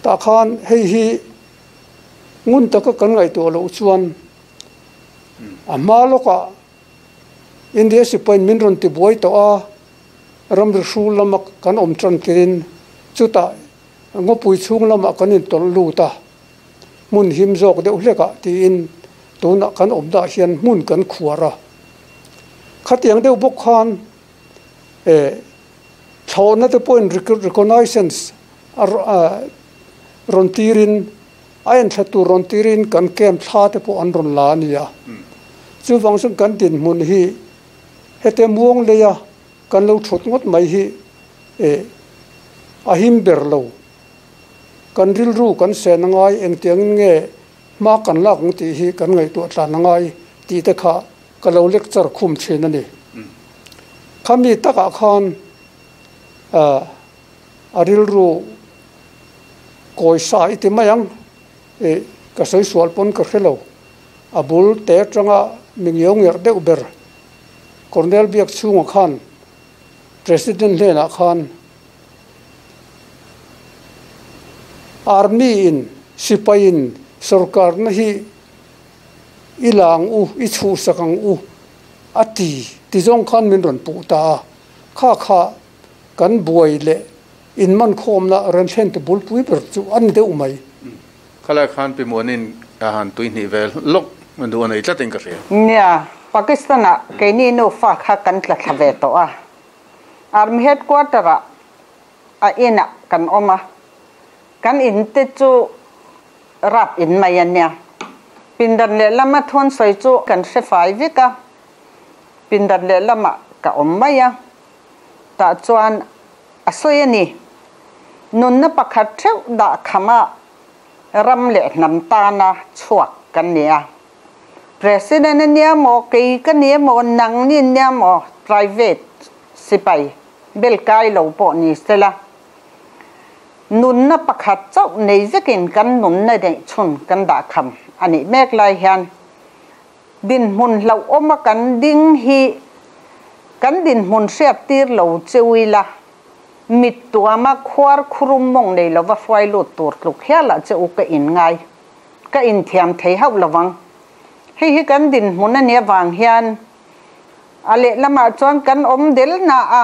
Tah khan hei hi ngun taka kan ngaihtuah loh chuan a hma lawkah India sipain min rawn tibuai tawh a, ramri hrul lama kan awm tan tirin chutah ngawpui chhung lamah kan intawlh lut a, hmun him zawk deuh hlekah tiin tunah kan awm dah hian hmun kan khuar a. Khatiang deuh bawk khan eh thlawhna te pawhin reconnaissance a rawn tirin A enthla tur rawn tirin kan camp thla te pawh an rawn la a ni a. Chuvang chuan kan dinhmun hi hete muang leia kan lo thut ngawt mai hi eh a him ber lo. Kan rilru kan sen a ngai, engtiangin nge hma kan lak ang tih hi kan ngaihtuah tlan a ngai tih te kha ka lo lecture khum thin a ni. Khami takah khan ah a rilru kawi sa i ti mai ang ih ka sawi sual pawn ka hre lo a bul te atanga mi ngiau ngerh deuh ber Colonel Biak chhunga khan President hnenah khan Army in sipai in sorkar na hi i la ang u i chhuhsak ang u a ti ti zawng khan min rawn puh ta a kha kha Kan buai leh inmankhawmna rawn thlen tu bulpui ber chu a ni deuh mai. Khalai khan Pi Muanin a han tuihnih ve lawk duh a nei tlatin ka hria. Nia, Pakistan-ah keini nufa kha kan tla thla ve tawh a. Army headquarter-ah a inah kan awm a, kan in te chu rap in mai a nia. Pindan lehlama thawn sawi chu kan hre fai vek a, pindan lehlamah ka awm mai a. Tah chuan a sawi a ni. Nunna pakhat theuh dah khama ram leh hnam tana chhuak kan ni a. President a nia maw, kei ka ni emaw, nang ni nia maw, private sipai bel kai lo pawh ni sela, nunna pakhat chauh nei zekin kan nunna neih chhun kan dah kham a nih mek lai hian Dinhmun hlauhawma kan ding hi kan dinhmun hriat tir lo cheu ila, mit tuama khuar khurum mawng nei lova hruai lut tur tluk hialah che u ka in ngai, ka inthiam thei hauh lovang. Hei hi kan dinhmun a nih avang hian a lehlamah chuan kan awm del na a,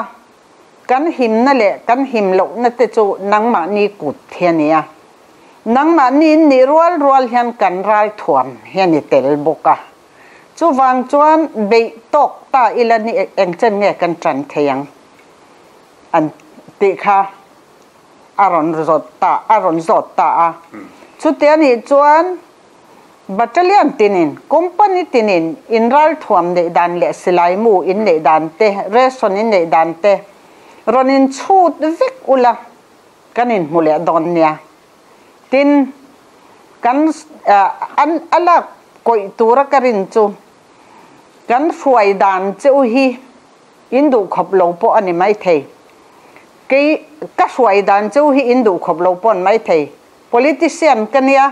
kan himna leh kan him lohna te chu nangmahni kut hi a ni a. Nangmahni in nih rual rual hian kan ralthuam hian i tel bawk a. Chuvang chuan beih tawk ta ila ni engchen nge kan tan thei ang an tih kha a rawn zawt ta a rawn zawt ta a. Chutia nih chuan battalion tinin, company tinin in ralthuam neih dan leh silai mu in neih dan te, ration in neih dan te rawn in chhut vek ula. Kan inhmu leh dawn nia. Tin, kan an a lak kawih tura ka rin chu kan hruai dan che u hi in duh khawp lo pawh a ni maithei. Kei ka hruai dan che u hi in duh khawp lo pawh a ni maithei. Politician ka nia,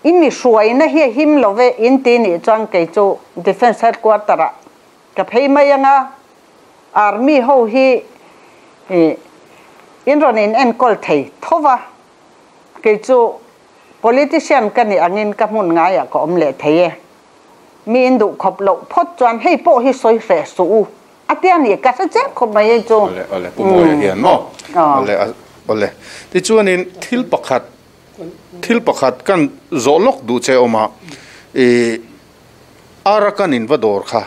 i mi hruaina hi a him lo ve in ti nih chuan kei chu Defence Headquarter ah Ka phei mai anga army ho hi in rawn in enkawl thei tho va, kei chu politician ka nih angin ka hmun ngaiah ka awm leh thei e. Mi in duh khawp loh phawt chuan hei pawh hi sawi hreh suh u a tia ni ka hre chiang khawp mai hei chu. Awle awle Pu Mawia hian maw awle awle tichuanin thil pakhat thil pakhat kan zawh lawk duh che awm a i Arakan in va dawr kha,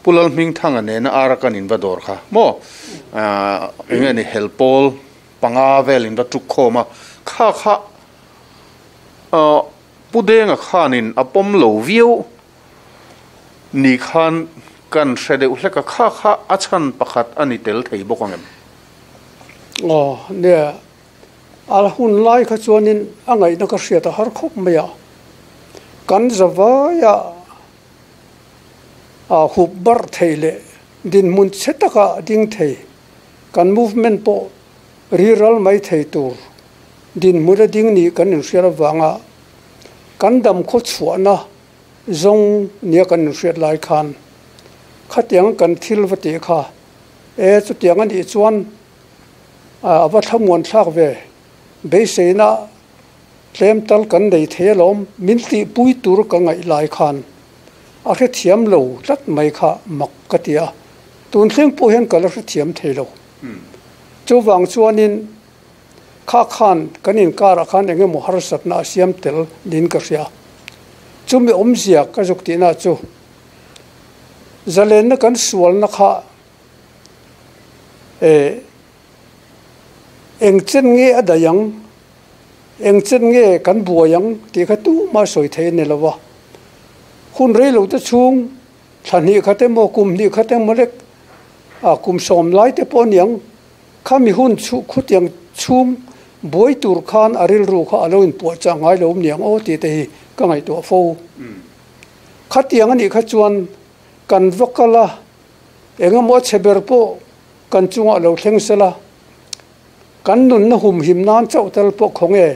Pu Lalhmingthanga nena Arakan in va dawr kha maw eng nge ni helpawl panga vel in va tuk khawm a, kha kha Pu Denga khanin a pawm lo viau ni khan kan hre deuh hlek a, kha kha a chhan pakhat a ni tel thei bawk ang em? Aw nia, A hun lai kha chuanin a ngaihna ka hriat a har khawp mai a, kan zavaia a hup barh thei leh dinhmun chhe taka ding thei, kan movement pawh riral mai thei tur dinhmun a ding nih kan inhriat avanga kan dam khaw chhuahna zawng nia kan inhriat lai khan khatiang kan thil va tih kha e chutiang a nih chuan A va thlamuan thlak ve. Beiseina tlem tal kan nei thei alawm, min tihpui tur ka ngaih lai khan a hrethiam lo tlat mai kha mak ka ti a, tun thleng pawh hian ka la hrethiam thei lo. Chuvang chuanin kha khan kan inkarah khan eng emaw harsatna a siam tel niin ka hria. Chumi awmzia ka zuk tihna chu zalenna kan sualna kha eh Eng chen nge a daih ang, eng chen nge kan buai ang tih kha tumah sawi thei a ni lo va. Hun rei lo te chhung, thla hnih khat emaw, kum hnih khat emaw lek, ah kum sawm lai te pawh a ni ang, khami hun chu khutiang chhung buai tur khan a rilru kha a lo inpuahchah ngai lo awm niang aw tih te hi ka ngaihtuah fo. Khatiang a nih kha chuan kan va kal a, engemaw a chhe ber pawh Kan chungah lo thleng sela, kan nunna humhim nan chauh tel pawh khaw nge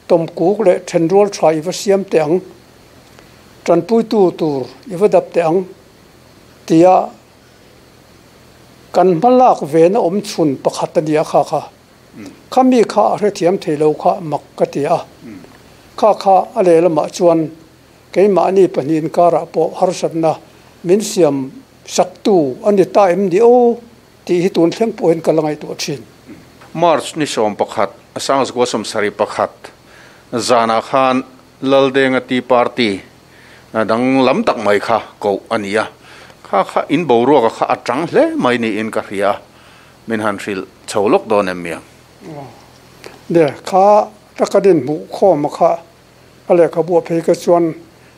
tawmkuk leh thenrual tha i va siam teh ang, tanpuitu tur i va dap teh ang tia kan hmalak vena awm chhun pakhat a ni a kha kha. Khami kha a hrethiam thei lo kha mak ka ti a, kha kha a lehlamah chuan keimahni pahnihin karah pawh harsatna min siam Saktu a ni ta em ni aw tih hi tun thleng pawhin ka la ngaihtuah thin. March ni 11, Sangzgua 71 zanah khan Laldenga Tea Party dang lam tak mai kha koh a ni a, kha kha in boruaka kha a tang hle mai niin ka hria a, min han hrilh chho lawk dawn em miang? Ne, kha taka dinhmuh khawma kha A lehkhabu a phei kha chuan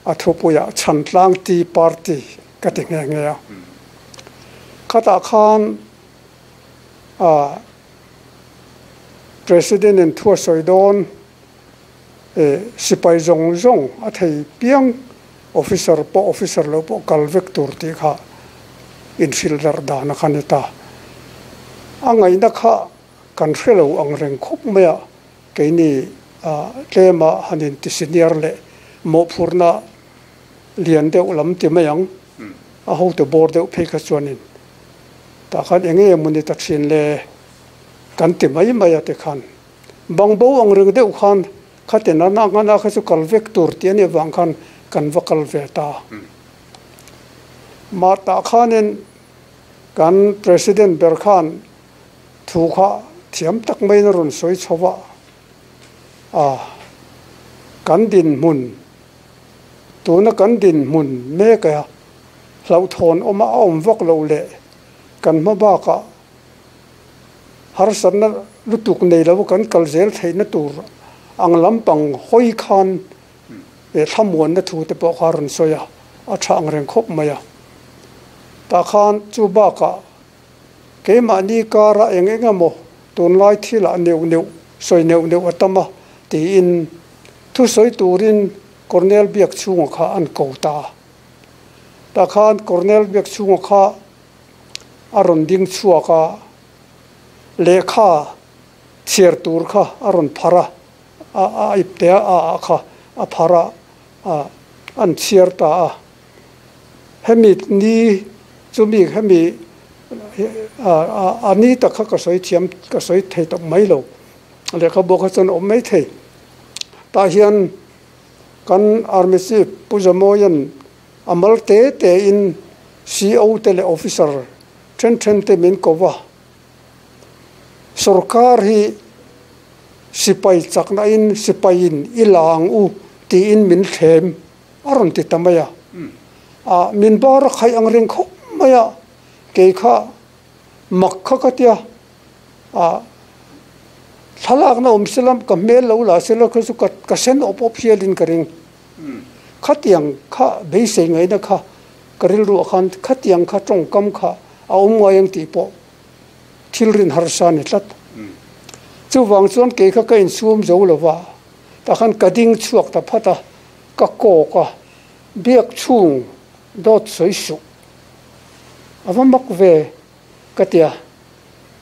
a thupuiah Chhantlang Tea Party ka ti nghe nghe a. Khatah khan President in thu a sawi dawn sipai zawng zawng a thei piang officer pawh officer lo pawh kal vek tur tih kha inhrilh darh dan a kha ni ta. A ngaihna kha kan hre lo ang reng khawp mai a. Keini tlema han inti senior leh mawhphurhna lian deuh lam ti mai ang, a hotu bawr deuh phei kha chuanin tah khan eng nge mawni ta thin le kan ti mai mai a tikhan bangbo ang reng deuh khan khatin a nak a kha chu kal vek tur tih a nih avang khan kan va kal ve ta. Mah tah khanin kan President ber khan Thu kha thiam tak maiin a rawn sawi chho a, a kan dinhmun, tuna kan dinhmun mek a hlauhthawn awm a, a awm vak loh leh kan hma bakah harsatna lutuk nei lo kan kal zel theihna tur ang lampang hawi khan thlamuanna thu te pawh kha a rawn sawi a, a tha ang reng khawp mai a. Tah khan chu bakah Keimahni kara eng eng emaw tunlai thilah neuh neuh, sawi neuh neuh a tam a, tiin thusawi turin Colonel Biakchhunga kha an ko ta a. Tah khan Colonel Biakchhunga kha a rawn ding chhuak a, lehkha chhiar tur kha a rawn phar a, a ipte a ah kha a phar a, an chhiar ta a. Hemi ni chumi hemi a ni tak kha ka sawi thiam ka sawi thei tak mai lo lehkhabu kha chuan a awm mai thei. Tah hian kan Army Chief Pu Zamoian a mal te te in CO te leh Officer then then te min ko va. Sorkar hi sipai chakna in sipai in i la ang u tiin min thlem. A rawn ti ta mai a, a min bar a khaih ang reng khawp mai a, kei kha mak kha ka tia, a thlalakna awm sela ka hmel lo la sela kha chu ka sen awp awp hialin ka ring. Khatiang kha beisei ngaihna kha ka rilruah khan khatiang kha tawngkam kha a awm ngai ang tih pawh thil rin harsa a ni tlat. Chuvang chuan kei kha ka insum zo lo va, tah khan ka ding chhuak ta phat a. Ka kawk a, biak chhung dawt sawi suh. A va mak ve ka ti a,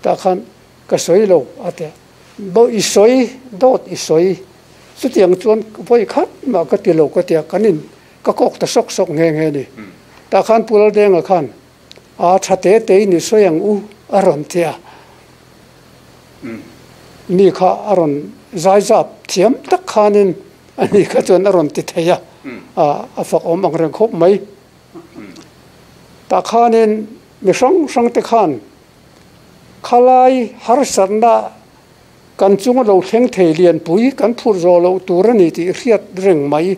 tah khan ka sawi lo a ti a, Bo i sawi, dawt i sawi, chutiang chuan vawi khat mah ka ti lo ka ti a, kan in ka kawk ta sawk sawk nghe nghe a ni. Tah khan Pu Laldenga khan a tha te te in i sawi ang u a rawn ti a, mi kha a rawn. zaizap thiam tak khanin ani kha chuan a rawn ti thei a, a fak awm ang reng khawp mai. Tah khanin mi hrang hrang te khan khalai harsatna kan chunga lo thleng thei lianpui kan phur zawh loh tur a ni tih hriat reng mai.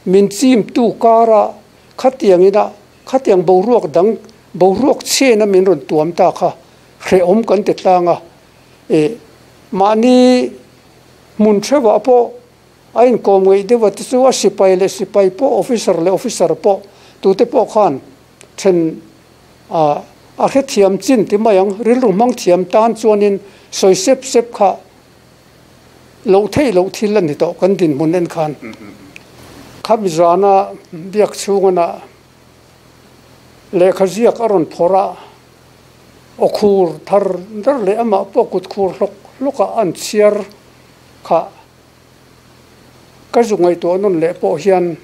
Min chimtu kara khatiang ina khatiang boruak dang boruak chhena min rawn tuam ta kha hrehawm kan ti tlang a. E mahni hmun theuhah pawh a inkawm ngeih deuh a te chu a sipai leh sipai pawh officer leh officer pawh tute pawh khan then a a hrethiam chin ti mai ang rilru hmang thiam tan chuanin sawi sep sep kha loh theih loh thil a ni tawh kan dinhmun en khan. Khami zana biak chhungana lehkha ziak a rawn phawrh a, aw khur thar dar leh amah pawh kut khur hlawk hlawk a an chhiar kha ka zu ngaihtuah nawn leh pawh hian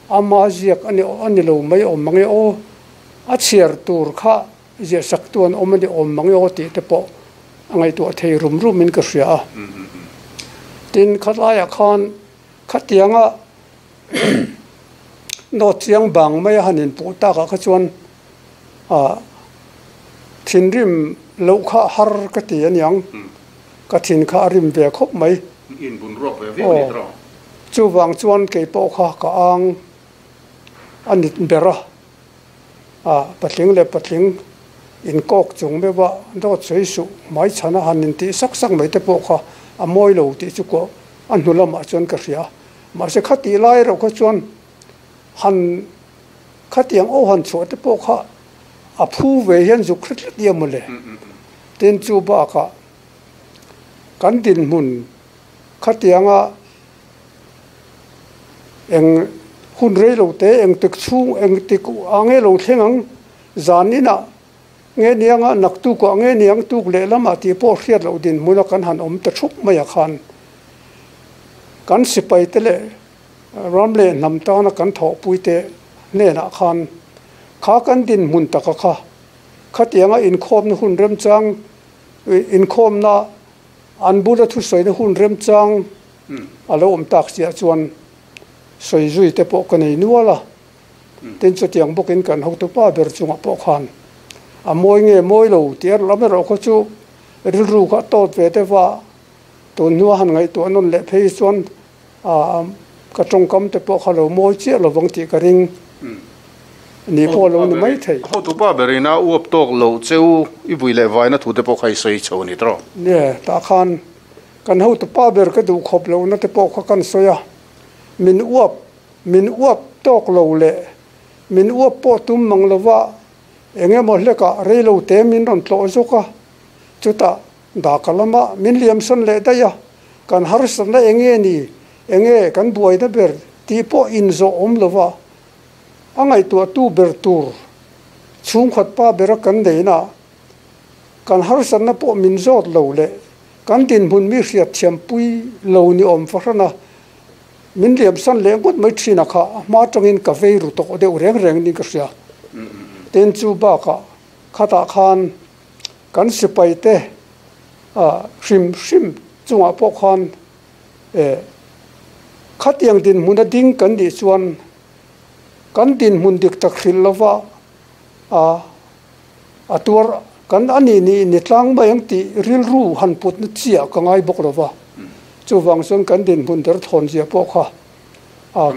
ama ziak a ni a ni lo mai awm mang e aw, a chhiar tur kha ziah sak tu an awm a ni awm mang e aw tih te pawh a ngaihtuah thei rum rum in ka hria a. Tin, khatlaiah khan khatianga Note chiang bang mai a han inpuh takah kha chuan ah thinrim loh kha har ka ti aniang, ka thin kha a rim ve khawp mai. Aw, chuvang chuan kei pawh kha ka ang a nit ber a, ah patling leh patling inkawk chung meuh a dawt sawi suh hmaichhan a han intih sak sak mai te pawh kha a mawi lo tih chu kawh a hnu lamah chuan ka hria. Mahse khatih lai erawh kha chuan han khatiang aw han chhuah te pawh kha a phu ve hian zuk hre tlat ia mawle. Tin chu bakah kan dinhmun khatianga eng hun rei lo te eng tik chhung eng tik a nge lo thleng ang zan inah nge nianga naktukah nge niang tuk lehlamah tih pawh hriat loh dinhmuna kan han awm ta thup mai ah khan Kan sipaite leh ram leh hnam tana kan thawhpuite hnenah khan kha kan dinhmun taka kha khatianga inkhawmna hun remchang, inkhawmna an bula thusawina hun remchang a lo awm tak chiah chuan sawi zui te pawh ka nei nual a. Tin, chutiang bawkin kan hotupa ber chungah pawh khan a mawi nge mawi lo tih lam erawh kha chu rilru kha a tawt ve deuh a. Tun hnua han ngaihtuah nawn leh phei chuan ka tawngkam te pawh kha lo mawi chiah lovang tih ka ring ni pawh lo ni mai thei. Hotupa berin a uap tawk loh cheu i vui leh vaina thu te pawh kha i sawi chho a ni tawh. Nie, tah khan kan hotupa ber ka duh khawp lohna te pawh kha kan sawi a, min uap min uap tawk lo leh min uap pawh tum mang lova eng emaw hlekah reilo te min rawn tlawh zawk a, chutah Daka lama min liamsan leh daih a, kan harsatna eng nge ni, eng nge kan buaina ber tih pawh inzawh awm lova a ngaihtuahtu ber tur chhungkhat pa bera kan neihna kan harsatna pawh min zawt lo leh kan dinhmun mi hriatthiampui lo ni awm fahran a, min liamsan leh ngawt mai thin a kha a hma atangin ka vei ru tawh deuh reng reng niin ka hria. Tin, chu bakah khatah khan Kan sipaite hrim hrim chungah pawh khan khatiang dinhmuna ding kan nih chuan kan dinhmun dik tak hrilh lova a tuar kan a nih nih ni tlang mai ang tih rilru han putna chiah ka ngai bawk lova. Chuvang chuan kan dinhmun derthawn zia pawh kha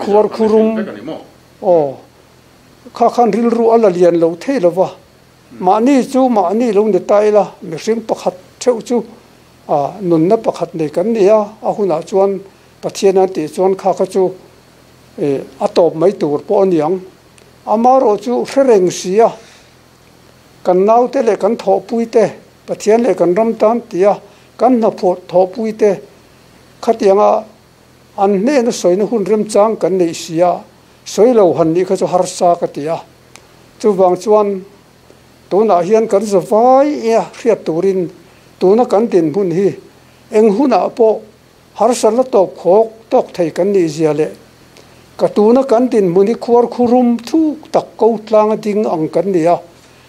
khuar khurum aw kha khan rilru a la lian lo thei lova. Mahni chu mahni lo ni ta ila, mihring pakhat theuh chu nunna pakhat nei kan ni a, a hunah chuan Pathian an tih chuan kha kha chu a tawp mai tur pawh a ni ang. Amaherawh chu hre reng si a, kan naute leh kan thawhpuite, Pathian leh kan ram tan tia kan hnaphawh thawhpuite khatianga an hnena sawina hun remchang kan neih si a, sawi lo han nih kha chu harsa ka ti a. Chuvang chuan tunah hian kan za vai e a hriat turin tuna kan dinhmun hi eng hunah pawh harsatna tawp khawk tawk thei kan nih zia leh ka tuna kan dinhmun hi khuar khurum thuk tak ko tlanga ding ang kan ni a,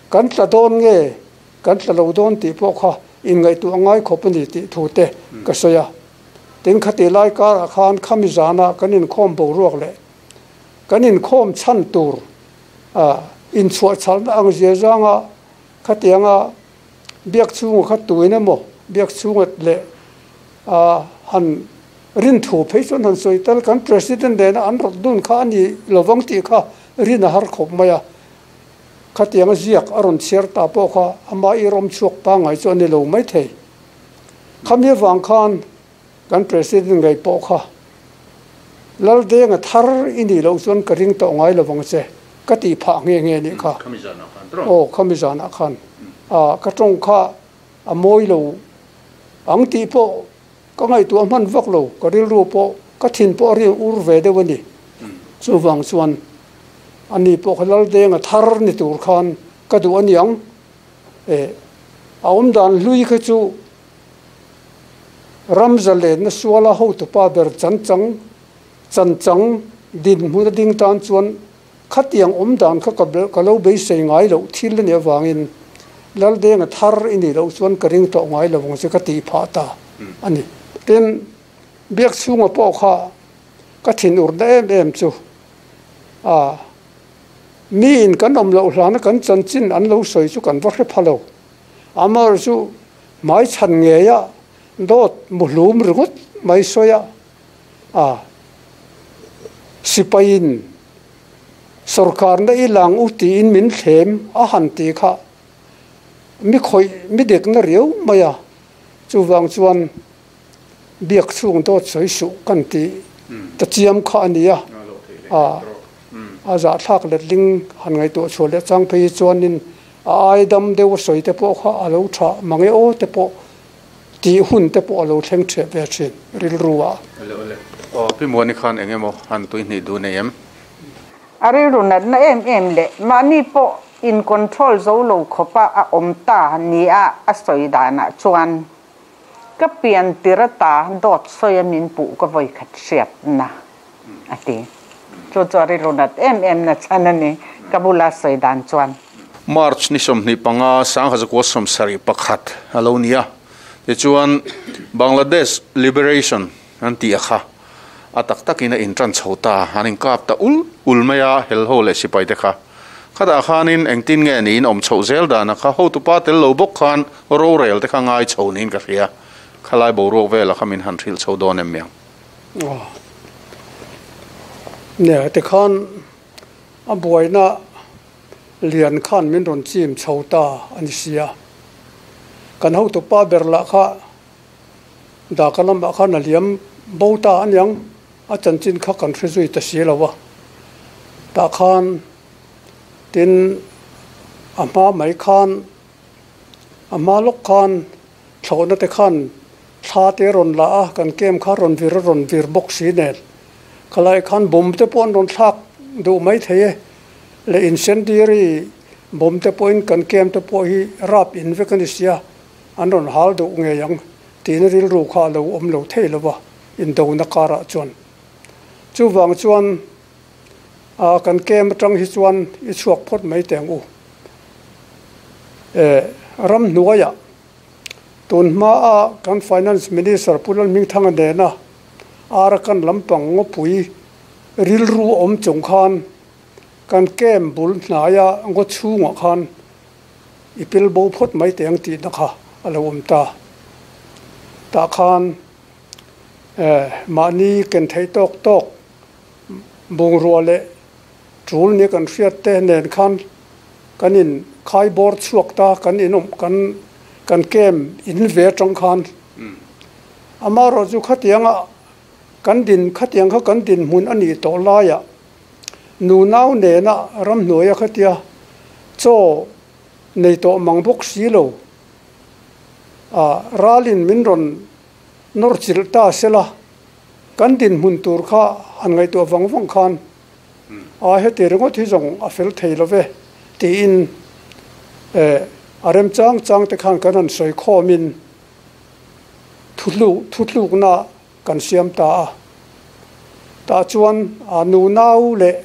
kan tla dawn nge kan tla lo dawn tih pawh kha inngaihtuah ngai khawp a ni tih thu te ka sawi a. Tin khati lai karah khan khami zana kan inkhawm boruak leh kan inkhawm chhan tur inchhuah chhalna ang zia zanga khatianga biak chhunga kha tuin emaw biak chhunga leh han rin thu phei chuan han sawi tel kan President nena an rawt dun kha a ni lovang tih kha rin a har khawp mai a. Khatianga ziak a rawn chhiar ta pawh kha ama i rawm chhuak pangngai chu a ni lo maithei. Khami avang khan kan President ngei pawh kha Laldenga thar i nih loh chuan ka ring tawh ngai lovang che ka tih phah nghe nghe nih kha. Aw, khami zanah khan ka tawng kha a mawi lo ang tih pawh ka ngaihtuah hman vak lo, ka rilru pawh ka thin pawh a ring ur ve deuh a ni. Chuvang chuan ani pawh kha Laldenga thar ni tur khan ka duh a niang. E, a awmdan hlui kha chu ram zalenna suala hotupa ber chanchang chanchang dinhmun a ding tan chuan khatiang awmdan kha ka lo beisei ngai loh thil a nih avangin Laldenga thar i nih loh chuan ka ring tawh ngai lo ang che ka tih phah ta a ni. Tin, biak chhunga pawh kha ka thinurna em em chu a miin kan awm loh hlana kan chanchin an lo sawi chu kan va hre pha lo. Amaherawhchu chu hmai chhan ngeia dawt muhlum ringawt mai sawi a, a sipaiin sawrkarna i lang u tiin min thlem a han ti kha mi khawih mi dekna riau mai a, chuvang chuan biak chhung dawt sawi suh kan tih ta chiam kha a ni a, a zahthlak letling han ngaihtuah chhuah leh chang phei hi chuanin a ai dam deuh a sawi te pawh kha a lo tha mang e aw te pawh tih hun te pawh a lo thleng theh ve thin rilru ah. Awle awle. Aw Pi Muani khan eng emaw han tui hnih duh nei em? A rilru natna em em leh mahni pawh in control zo lo khawpa a awm ta nia a sawi danah chuan ka pian tir ata dawt sawi a min puh ka vawi khat hriatna a ti. Chu chu a rilru nat em em na chhan a ni ka bula sawi dan chuan. March ni 25 1971 a lo ni a, tichuan Bangladesh Liberation an tih a kha a tak takin a intan chho ta, an inkap ta ul ul mai a, helho leh sipai te kha. Khatah khanin engtin nge niin awm chhoh zel dan a kha hotupa tel lo bawk khan rorel te kha ngai chho niin ka hria. Khalai boruak vela kha min han hrilh chho dawn em miang? Nia, tikhan a buaina lian khan min rawn chim chho ta a ni sia. Kan hotupa ber lah kha Dhaka lamah khan a liam bo ta a niang, a chanchin kha kan hre zui ta si lo a. Tah khan tin a hma mai khan a hma lawk khan thlawhna te khan thla te rawn la a, kan camp kha rawn vir a rawn vir bawk si nen. Khalai khan bomb te pawh an rawn thlak duh mai thei e, leh incendiary bomb te pawhin kan camp te pawh hi rap in vek a ni sia, an rawn hal duh ngei ang tiin rilru kha a lo awm lo thei lo va, indona karah chuan. Chuvang chuan a kan camp atang hi chuan i chhuak phawt mai teh ang u. E ramhnuaiah tun hmaa kan Finance Minister Pu Lalhmingthanga nena Arakan lampang ngawpui rilru awm chung khan kan camp bul hnaia ngaw chhungah khan i pil bo phawt mai teh ang tihna kha a lo awm ta. Tah khan mahni ken theih tawk tawk bungrua leh tul nia kan hriat te nen khan kan in khai bawr chhuak ta kan in awm kan kan camp in ve atang khan amaherawh chu khatianga kan din khatiang kha kan dinhmun a nih tawh laiah nunau nena ramhnuaia khatia chaw nei tawh mang bawk si lo a ralin min rawn nawr chilh ta sela kan dinhmun tur kha han ngaihtuah vang vang khan a heti ringawt hi zawng a fel thei lo ve tiin a remchang chang te khan kan han sawi khawmin thutlukna kan siam ta a. Tah chuan a nunau leh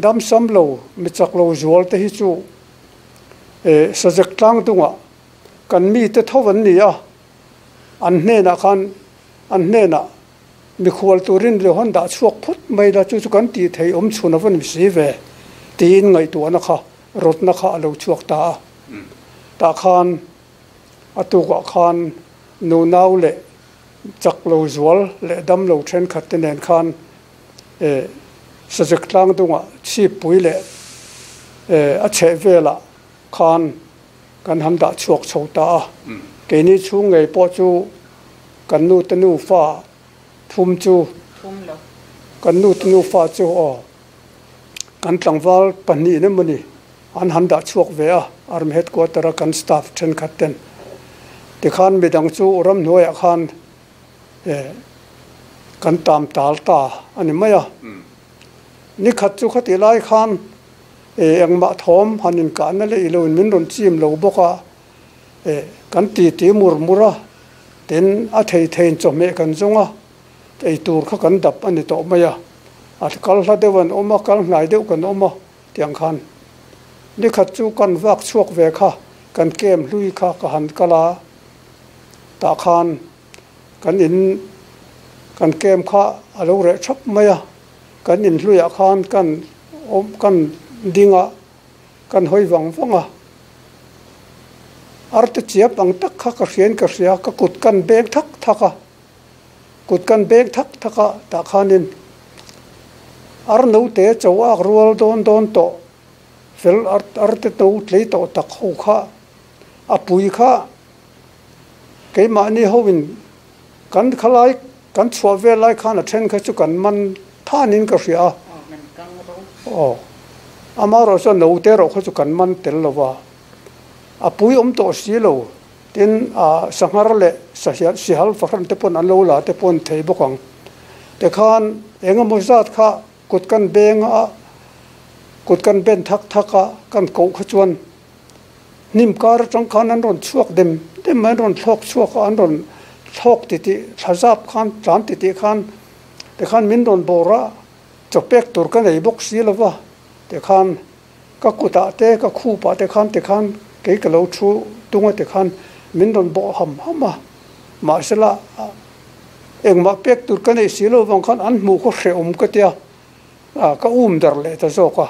damsam lo mi chak lo zual te hi chu sajek tlang dungah kan mite tho an ni a, an hnenah khan an hnenah. Mikhual turin lo han dah chhuak phawt mai la, chu chu kan tih theih awm chhun a va ni si ve, tiin ngaihtuahna kha rawtna kha a lo chhuak ta a. Tah khan a tukah khan nunau leh chak lo zual leh dam lo thenkhat te nen khan Sazek tlang dungah chhippui leh a chheh velah khan kan han dah chhuak chho ta a. Keini chhung ngei pawh chu kan nu te nufa thum chu kan nu te nufa chu aw kan tlangval pahnih emaw ni an han dah chhuak ve a, Army Headquarter a kan staff thenkhat ten tikhan midang chu ramhnuaiah khan kan tam tal ta a ni mai a. Nikhat chu khatih lai khan engmah thawm han inkahna leh ilo in min rawn chim lo bawk a, kan titi mur mur a, tin a thei theiin chawhmeh kan zawng a, ei tur kha kan dap a ni tawh mai a, a kal hla deuh an awm a, kal hnai deuh kan awm a tiang khan nikhat chu kan vak chhuak ve kha kan kem hlui kha ka han kal a, tah khan kan in kan kem kha a lo reh thap mai a, kan in hluiah khan kan awm kan ding a. Kan hawi vang vang a, arte chiap ang tak kha ka hriain ka hria, ka kut kan beng thak thak a, kut kan beng thak thak a tah khanin ar note cho ak rual dawn dawn tawh fel arte no tlei tawh tak ho kha a pui kha keimahni hoin kan khalai kan chhuah vel lai khan a then kha chu kan man thanin ka hria a. Aw, amaherawh chuan note erawh kha chu kan man tel lo va, a pui awm tawh si lo. Tin, a sanghar leh sahial sihal fahran te pawn an lo la te pawh an thei bawk ang. Tikhan eng emaw zat kha kut kan beng a, kut kan ben thak thak a, kan koh kha chuan Hnim kar atang khan an rawn chhuak dem dem mai, an rawn thlawk chhuak a, an rawn thlawk titih thla zap khan tlan titih khan tikhan min rawn bawr a, chaw pek tur ka nei bawk si lo va, tikhan ka kutah te ka khupah te khan tikhan kei ka lo thu tung a tikhan min rawn bawh ham ham a, mahsela engmah pek tur ka nei si lo vang khan an hmuh khaw hrehawm ka tia. A, ka um dar leh ta zawk a.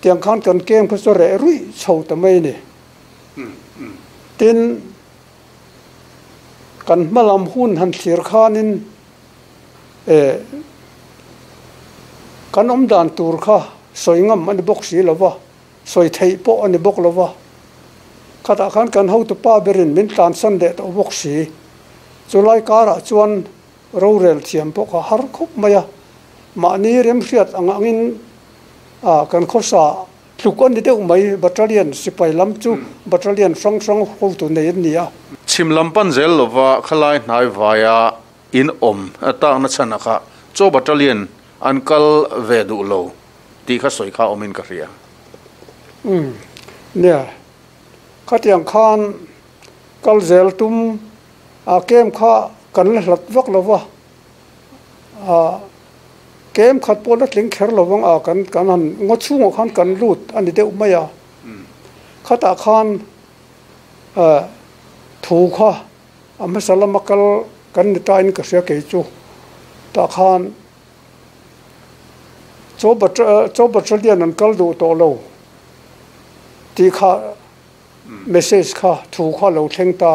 Tiang khan kan kem kha chu reh ruih chho ta mai a ni. Tin, kan hma lam hun han thlir khanin eh kan awm dan tur kha sawi ngam a ni bawk si lo va, sawi theih pawh a ni bawk lo va. Khatah khan kan hotupa berin min tlansan leh tawh bawk si. Chulai karah chuan Rorel thiam pawh kha har khawp mai a, mahni remhriat ang angin a kan khawsa tluk a ni deuh mai, battalion sipai lam chu battalion hrang hrang hotu nei an ni a. Chhim lam pan zel lova khalai hnai vaia in awm takna chhanah kha chaw battalion an kal ve duh lo tih kha sawi kha awmin ka hria. Umm nia, khatiang khan kal zel tum A kem kha kan la hlat vak lo va, a kem khat pawh la tling kher lo vang a, kan kan han ngaw chhungah khan kan lut a ni deuh mai a. Khatah khan thu kha a hmasa lama kal kan ni tain ka hria kei chu. Tah khan chaw chaw battalion an kal duh tawh lo tih kha message kha thu kha lo thleng ta.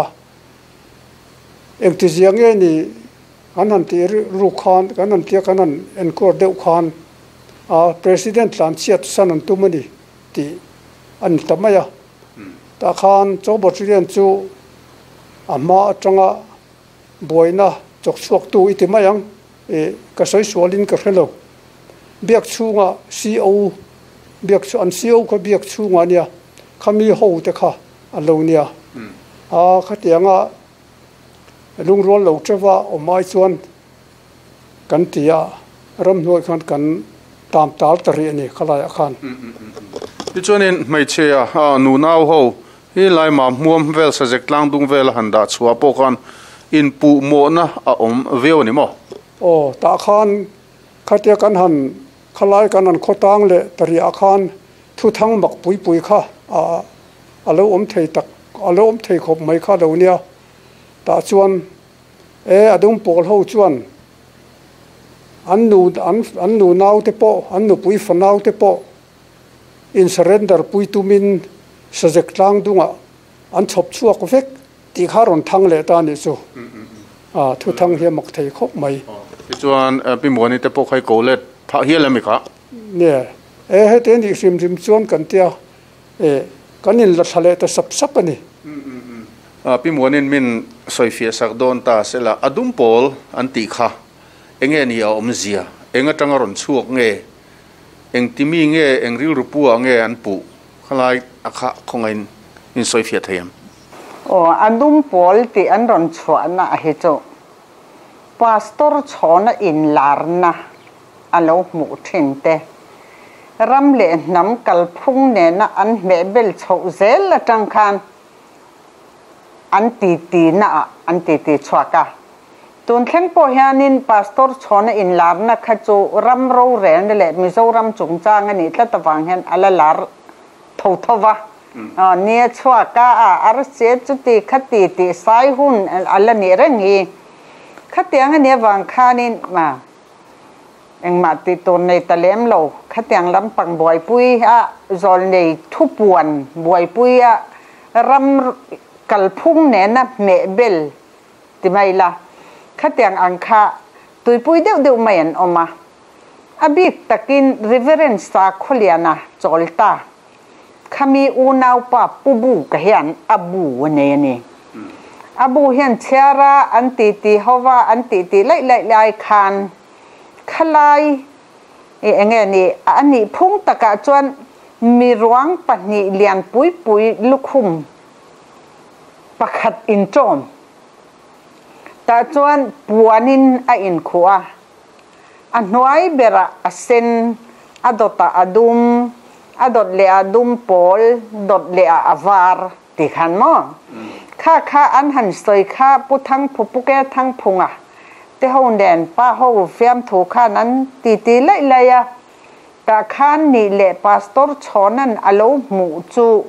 Engtizia nge ni an han tih ruk khan, kan han tia kan han enkuar deuh khan a President tlan chhiat san an tum a ni tih a ni ta mai a. Tah khan Chaw Battalion chu a hma atanga buaina chawk chhuaktu i ti mai ang i ka sawi sualin ka hre lo. Biak chhunga CO biak chu an CO kha biak chhungah a nia, khami ho te kha a lo nia. A khatianga lungrual lo teuha awm ai chuan kan ti a, ramhnuai khan kan tam tal ta rih a ni khalaiah khan. Tichuanin hmeichhia nunau ho hi Laima hmuam vel Sazek tlang dung vela han dah chhuah pawh khan inpuhmawhna a awm viau a ni maw? Aw, tah khan khatia kan han khalai kan han khawtang leh ta riah khan Thuthang mak pui pui kha a a lo awm thei tak, a lo awm thei khawp mai kha lo nia. Tah chuan e a dum pawl ho chuan An nu an an nu nau te pawh an nupui fanau te pawh in surrender pui tumin Sazek tlang dungah an chhawp chhuak vek tih kha rawn thang leh ta a nih chu. A thu thang hi a mak thei khawp mai. Tichuan Pi Muani te pawh kha i ko let phah hial em i kha? Nia, e heti a nih hrim hrim chuan kan tia e kan in la thla leh ta sap sap a ni. Pi Muanin min sawifiah sak dawn ta sela a dum pawl an tih kha enge ni a awmzia? Eng atanga rawn chhuak nge? Eng ti mi nge eng rilru pu ah nge an puh? Khalai a kha khawngain min sawifiah thei em? Aw, a dum pawl tih an rawn chhuahna a hi chu Pastor chhawna inlarna a lo hmuh thin te, ram leh hnam kalphung nena an hmehbel chhoh zel atang khan an titi naah an titi chhuak a. Tun thleng pawh hianin Pastor chhawna inlarna kha chu ram rorelna leh Mizoram chungchang a nih tlat avang hian a la lar tho tho va. Nia chhuak a, a arsi chuti khati tih sai hun a la nih reng hi. Khatiang a nih avang khanin engmah tih tur nei ta lem lo. Khatiang lampang buaipui a zawl nei thupuan buaipui a ram kalphung nena hmeh bel ti mai la. Khatiang ang kha tuipui deuh deuh mai an awm a. A bik takin Reverend Sakhawliana chawl ta. Khami unaupa Pu Bu ka hian a bu a nei a ni. A bu hian chhiara an titi hova an titi laih laih lai khan khalai i enge ni a nih phung takah chuan miruang pahnih lian pui pui lukhum pakhat inṭawm tah chuan puanin a inkhuh a. A hnuai berah a sen, a dawtah a dum, a dawt leh ah dum pawl, dawt leh ah a var ti khan maw? Kha kha an han sawi kha Pu Thangphu Pu Ke Thangphunga te ho nen pa ho fiamthu khan an titi laih laih a, tah khan nih leh Pastor Chhawna'n a lo hmuh chu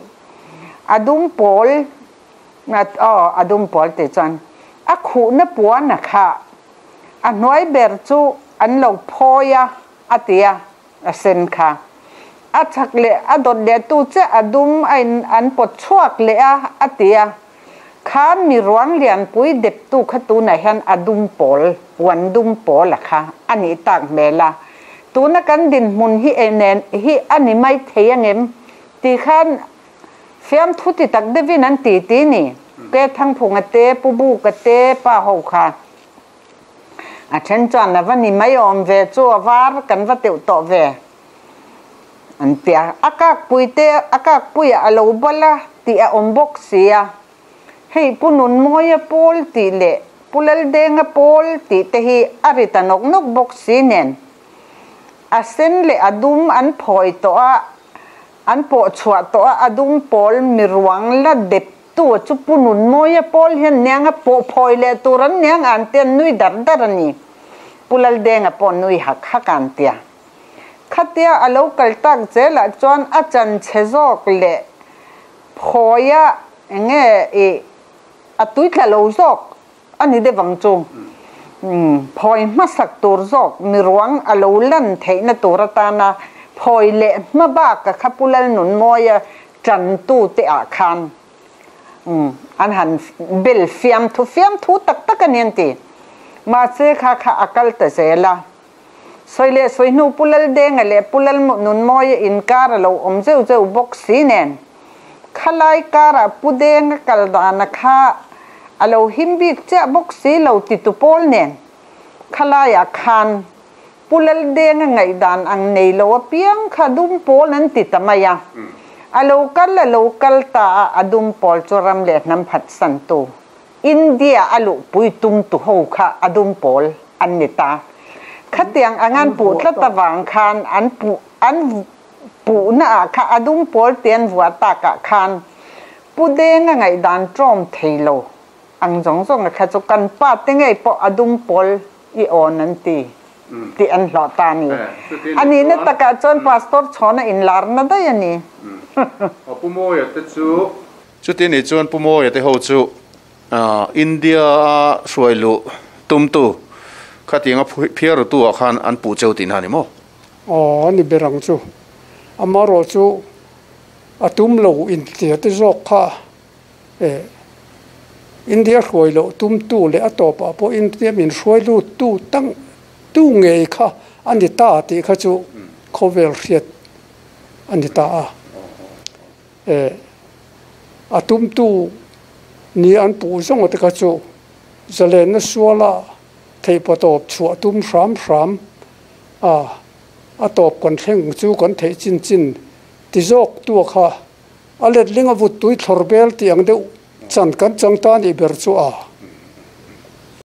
a dum pawl aw a dum pawl tih chuan a khuhna puan a kha A hnuai ber chu an lo phawi a, a ti a, a sen kha. A chak leh a dawt leh tu che a dum a in an pawt chhuak leh a, a ti a. Kha mi ruang lianpui deptu kha tunah hian a dum pawl, puan dum pawl a kha a nih tak hmel a. Tuna kan dinhmun hi e nen hi a ni mai thei angem? Ti khan fiamthu ti tak deuhin an ti ti ni. Ke Thangphunga te, Pu Buka te, pa ho kha. A then chuan a va ni mai awm ve chu a var kan va teuh tawh ve an ti a. A kakpui te a kakpuiah a lo bal a tih a awm bawk si a. Hei Pu Nunmawia pawl tih leh Pu Laldenga pawl tih te hi a ri ta nawk nawk bawk si nen a sen leh a dum an phawi tawh a, an pawh chhuah tawh a, a dum pawl miruang la dep Tu chu Pu Nunmawia pawl hian niang a pawh phawi leh tur an niang an tia nui dar dar a ni. Pu Laldenga pawh nui hak hak an tia. Khatia a lo kal tak zelah chuan a chan chhe zawk leh phawia enge i a tuitla lo zawk a ni deuh ang chu. Phawi hmasak tur zawk miruang a lo lan theihna tur atana phawi leh hma baka kha Pu Lalnunmawia Ṭantute ah khan an han bel fiamthu fiamthu tak tak a ni an ti. Mahse kha kha a kal ta zel a. Sawi leh sawi hnu Pu Laldenga leh Pu Lalnunmawia inkar a lo awm zeuh zeuh bawk si nen khalai karah Pu Denga kal dana kha a lo him bik chiah bawk si lo titu pawl nen khalaiah khan Pu Laldenga ngaihdan ang nei lo apiang kha dum pawl an ti ta mai a. A lo kal a lo kal ta a, a dum pawl chu ram leh hnam phatsantu India a luhpui tum tu ho kha a dum pawl an ni ta. Khatiang ang an puh tlat avang khan an puh an puhna ah kha a dum pawl ti an vuah tak ah khan Pu Denga ngaihdan tlawm thei lo ang zawng zawng a kha chu kan pa te ngei pawh a dum pawl i awn an ti tih an hlawh ta a ni. A nihna takah chuan Pastor Chhawna inlarna daih a ni. Pu Mawia te chu. Chuti nih chuan Pu Mawia te ho chu India a hruai luh tumtu Khatianga phiarutu ah khan an puh cheu tihna a ni maw? Aw, a ni ber ang chu. Amarawh chu a tum lo intia te zawk kha eh India hruai loh tumtu leh a tawpah pawh India min hruai luttu tang tu ngei kha a ni ta tih kha chu khawvel hriat a ni ta a. Eh a tumtu ni an puh zawng te kha chu zalenna suala theihpa tawp chhuah tum hram hram a, a tawp kan thleng chu kan theih chin chin ti zawk tua kha a letling a vut tui thlawr bel tih ang deuh chan kan chang ta nih ber chu a.